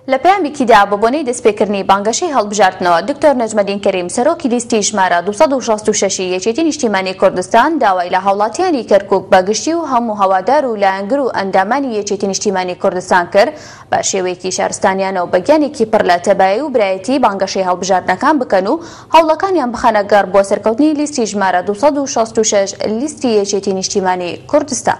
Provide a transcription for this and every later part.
لە پەیامێکیدا بە بۆنەی دەستپێکردنی بانگەشەی هەڵبژاردنەوە، دکتۆر نەجمەدین کەریم سەرۆکی لیستی ژمارە 266 ی یەکێتی نیشتیمانی کوردستان داوای لە هاوڵاتیانی کەرکوک بە گشتی و هەموو هەوادار و لایەنگر و ئەندامانی یەکێتی نیشتیمانی کوردستان کرد بە شێوەیەکی شارستانیانە و بە گیانێکی پڕ لە تەبایی و برایەتی بانگەشەی هەڵبژاردنەکان بکەن و هەوڵەکانیان بخەنە گەڕ بۆ سەرکەوتنی لیستی ژمارە 266 لیستی یەکێتی نیشتیمانی کوردستان.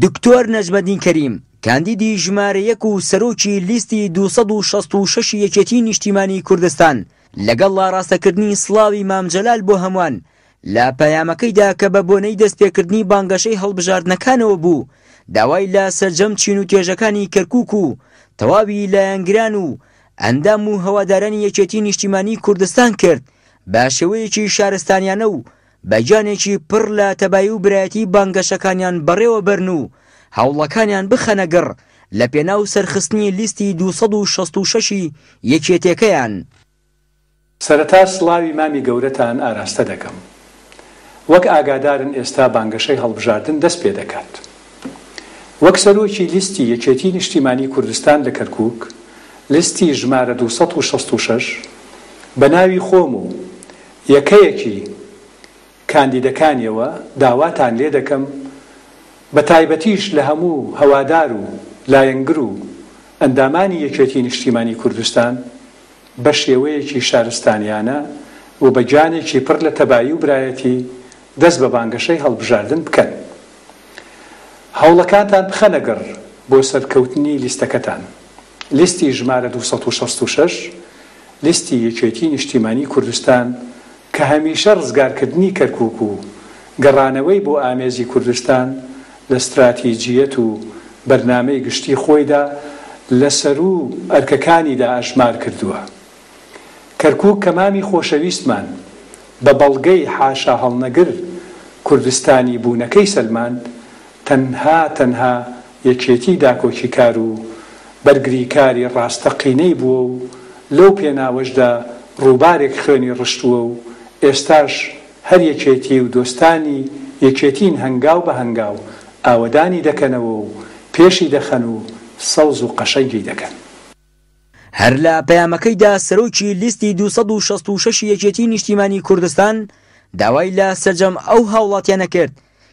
دکتۆر نەجمەدین کەریم، کاندیدی ژمارە یەک و سەرۆکی لیستی 266 ی یەکێتی نیشتیمانی کوردستان، لەگەڵ ئاڕاستەکردنی سڵاوی مام جەلال بۆ هەموان، لە پەیامەکەیدا کە بە بۆنەی دەستپێکردنی بانگەشەی هەڵبژاردنەکانەوە بوو، داوای لە سەرجەم چین و توێژەکانی کەرکوک و تەواوی لایەنگران و ئەندام و هەوادارانی یەکێتی نیشتیمانی کوردستان کرد بە شێوەیەکی شارستانیانە و بە گیانێکی پڕ لە تەبایی و برایەتی بانگەشەکانیان بەڕێوە بەرن و هەوڵەکانیان بخەنە گڕ لە پێناو سەرخستنی لیستی 266 ی یەکێتێکەیان. سەرەتا سڵاوی مامی گەورەتان ئاراستە دەکەم. وەک ئاگادارن ئێستا بانگەشەی هەڵبژاردن دەست پێدەکات. وەک سەرۆکی لیستی یەکێتی نیشتیمانی کوردستان لە کەرکوک، لیستی ژمارە 266، بە ناوی خۆم و یەکەیەکی کاندیدەکانیەوە داواتان لێدەکەم بە تایبەتیش لە هەموو هەوادار و لایەنگر و ئەندامانی یەکێتی نیشتیمانی کوردستان بە شێوەیەکی شارستانیانە و بە گیانێکی پڕ لە تەبایی و برایەتی دەست بە بانگەشەی هەڵبژاردن بکەن. هەوڵەکانتان بخەنە گڕ بۆ سەرکەوتنی لیستەکەتان. لیستی ژمارە 266، لیستی یەکێتی نیشتیمانی کوردستان کە هەمیشە ڕزگارکردنی کەرکوک و گەڕانەوەی بۆ ئامێزی کوردستان لە ستراتیجییەت و بەرنامەی گشتی خۆیدا لە سەروو ئەرکەکانیدا ئەژمار کردووە. کەرکوک کە مامی خۆشەویستمان بە بەڵگەی حاشاهەڵنەگر کوردستانی بوونەکەی سەلماند، تەنها تەنها یەکێتی داکۆکیکار و بەرگریکاری ڕاستەقینەی بووە و لەو پێناوەشدا ڕووبارێک خوێنی ڕشتووە و ئێستاش هەر یەکێتی و دۆستانی یەکێتین هەنگاو بە هەنگاو ئاوەدانی دەکەنەوە و پێشی دەخەن و سەوز و قەشەنگی دەکەن. هەر لە پەیامەکەیدا سەرۆکی لیستی 266 ی یەکێتی نیشتیمانی کوردستان داوای لە سەرجەم ئەو هاوڵاتیانە کرد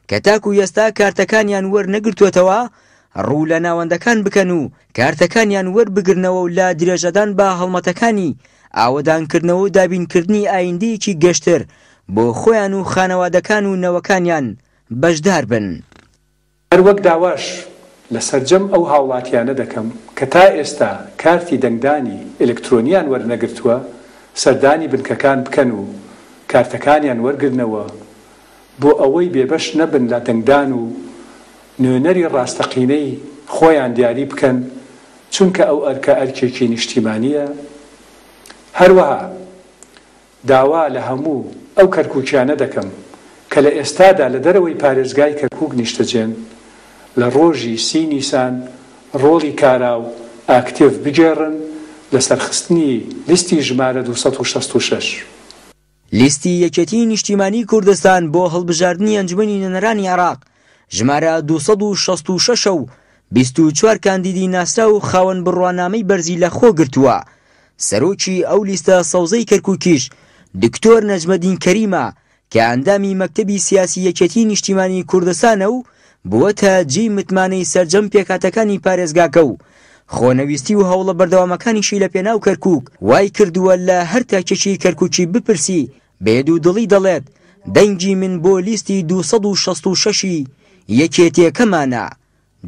کە تاکو ئێستا کارتەکانیان وەرنەگرتووەتەوە ڕوو لە ناوەندەکان بکەن و کارتەکانیان وەربگرنەوە و لە درێژەدان بە هەڵمەتەکانی ئاوەدانکردنەوە و دابینکردنی ئایندەیەکی گەشتر بۆ خۆیان و خانەوادەکان و نەوەکانیان بەشدار بن. هەروەک داواش لە سەرجەم ئەو هاوڵاتیانە دەکەم کە تا ئێستا کارتی دەنگدانی ئەلکترۆنیان وەرنەگرتووە سەردانی بنکەکان بکەن و کارتەکانیان وەرگرنەوە بۆ ئەوەی بێبەش نەبن لە دەنگدان و نوێنەری ڕاستەقینەی خۆیان دیاری بکەن چونکە ئەو ئەرکە ئەرکێکی نیشتیمانیە هەروەها داوا لە هەموو ئەو کەرکوکیانە دەکەم کە لە ئێستادا لە دەرەوەی پارێزگای کەرکوک نیشتەجێن لە ڕۆژی سی نیسان ڕۆڵی کارا و ئاکتیڤ بگێڕن لە سەرخستنی لیستی ژمارە 266. لیستی یەکێتیی نیشتیمانیی کوردستان بۆ هەڵبژاردنی ئەنجومەنی نوێنەرانی عێراق ژمارە 266 ە و 24 کاندیدی ناسراو و خاوەن بڕوانامەی بەرزی لەخۆ گرتووە، سەرۆکی ئەو لیستە سەوزەی کەرکوکیش دکتۆر نەجمەدین کەریمە کە ئەندامی مەکتەبی سیاسی یەکێتیی نیشتیمانیی کوردستانە و بووەتە جێی متمانەی سەرجەم پێکهاتەکانی پارێزگاکە و خۆنەویستی و هەوڵە بەردەوامەکانیشی لە پێناو کەرکوک وای کردووە لە هەر تاکێکی کەرکوکی بپرسی بێ دوودڵی دەڵێت دەنگی من بۆ لیستی 266 ی یەکێتیەکەمانە.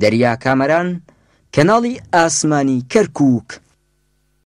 دەریا کامەران، کەناڵی ئاسمانی کەرکوک.